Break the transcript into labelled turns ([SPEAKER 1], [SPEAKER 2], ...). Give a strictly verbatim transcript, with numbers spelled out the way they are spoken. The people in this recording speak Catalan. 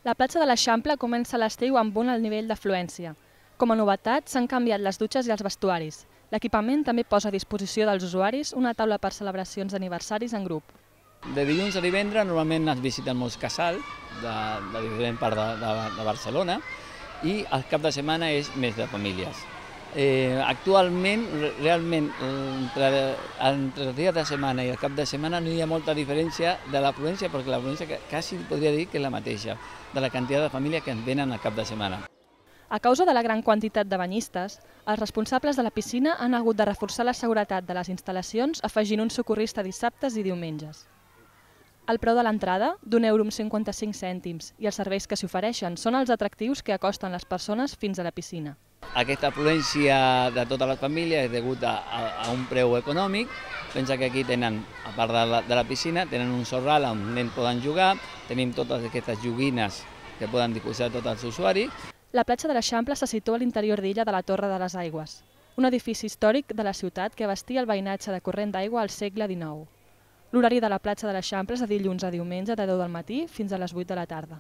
[SPEAKER 1] La platja de l'Eixample comença l'estiu amb un alt nivell d'afluència. Com a novetat, s'han canviat les dutxes i els vestuaris. L'equipament també posa a disposició dels usuaris una taula per celebracions d'aniversaris en grup.
[SPEAKER 2] De dilluns a divendres normalment es visiten molts casals de, de diferents parts de, de, de Barcelona i el cap de setmana és més de famílies. Eh, actualment, realment, entre, entre els dies de setmana i el cap de setmana no hi ha molta diferència de l'afluència, perquè l'afluència quasi podria dir que és la mateixa, de la quantitat de famílies que ens venen al cap de setmana.
[SPEAKER 1] A causa de la gran quantitat de banyistes, els responsables de la piscina han hagut de reforçar la seguretat de les instal·lacions afegint un socorrista dissabtes i diumenges. El preu de l'entrada, d'un euro amb cinquanta-cinc cèntims, i els serveis que s'hi ofereixen són els atractius que acosten les persones fins a la piscina.
[SPEAKER 2] Aquesta afluència de totes les famílies és degut a, a, a un preu econòmic. Pensa que aquí tenen, a part de la, de la piscina, tenen un sorral on els nens poden jugar, tenim totes aquestes joguines que poden disposar tots els usuaris.
[SPEAKER 1] La platja de l'Eixample se situa a l'interior d'illa de la Torre de les Aigües, un edifici històric de la ciutat que abastia el veïnatge de corrent d'aigua al segle dinou. L'horari de la platja de l'Eixample és de dilluns a diumenge de deu del matí fins a les vuit de la tarda.